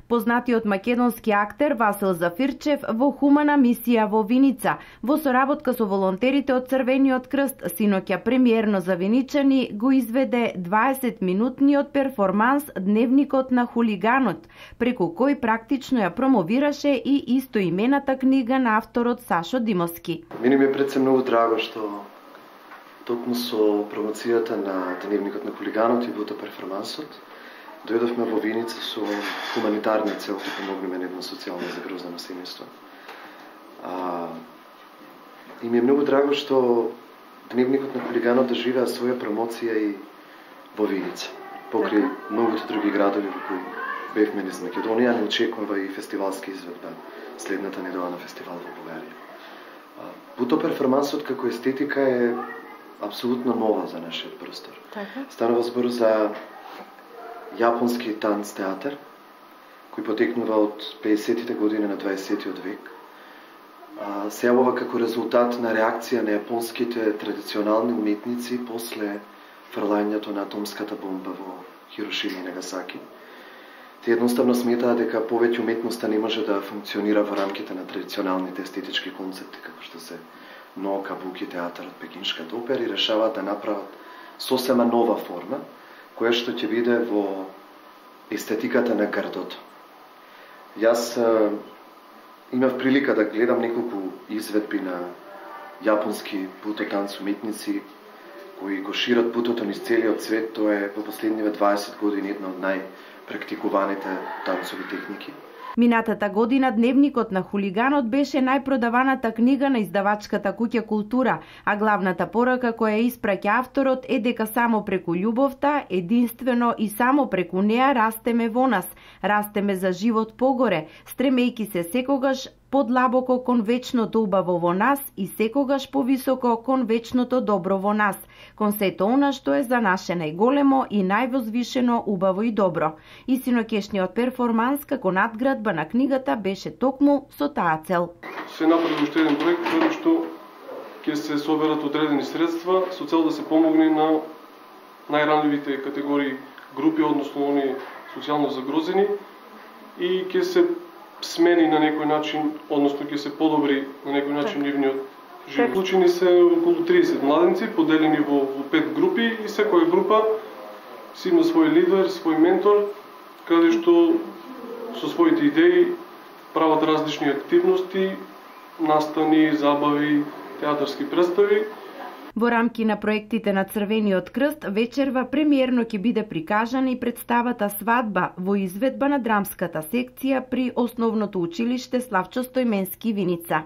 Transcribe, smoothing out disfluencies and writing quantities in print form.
Познатиот македонски актер Васил Зафирчев во хумана мисија во Виница, во соработка со волонтерите од Црвениот крст, синоќа премиерно за виничани го изведе 20-минутниот перформанс Дневникот на хулиганот, преку кој практично ја промовираше и истоимената книга на авторот Сашо Димовски. Мене ми е пред се многу драго што токму со промоцијата на Дневникот на хулиганот и буто перформансот дојдовме во Виница со хуманитарна цел да помогнеме на едно социјално загрозено семејство. И ми е многу драго што Дневникот на хулиганот доживеа своја промоција и во Виница, покрај многото други градови во кои бевме низ Македонија, не очекува и фестивалска изведба следната недела на фестивал во Бугарија. Буто перформансот како естетика е апсолутно нова за нашиот простор. Станува збор за јапонски танц театар, кој потекнува од 50-тите години на 20-тиот век. Се јавува како резултат на реакција на јапонските традиционални уметници после фрлањето на атомската бомба во Хирошима и Нагасаки. Те едноставно сметаат дека повеќе уметноста не може да функционира во рамките на традиционалните естетички концепти, како што се но кабуки театарот, пекиншката опера, и решаваат да направат сосема нова форма, која што ќе биде во естетиката на грдото. Јас имав прилика да гледам неколку изведби на јапонски буто танц уметници кои го шират бутото низ целиот свет. Тоа е во последниве 20 години една од најпрактикуваните танцови техники. Минатата година Дневникот на хулиганот беше најпродаваната книга на издавачката куќа Култура, а главната порака која испраќа авторот е дека само преку љубовта, единствено и само преку неа растеме во нас, растеме за живот погоре, стремејки се секогаш подлабоко кон вечното убаво во нас и секогаш повисоко кон вечното добро во нас, кон сето она што е за наше најголемо и највозвишено убаво и добро. И синокешниот перформанс како надградба на книгата беше токму со таа цел. Се направи уште еден проект каде што ќе се соберат одредени средства со цел да се помогне на најранливите категории групи, односно они социјално загрозени, и ќе се смени на некој начин, односно ќе се подобри на некој начин нивниот живот. Вклучени се околу 30 младенци, поделени во 5 групи, и секоја група си има свој лидер, свој ментор, каде што со своите идеи прават различни активности, настани, забави, театарски представи. Во рамки на проектите на Црвениот крст, вечерва премиерно ќе биде прикажана и представата Свадба во изведба на драмската секција при Основното училиште Славчо Стојменски Виница.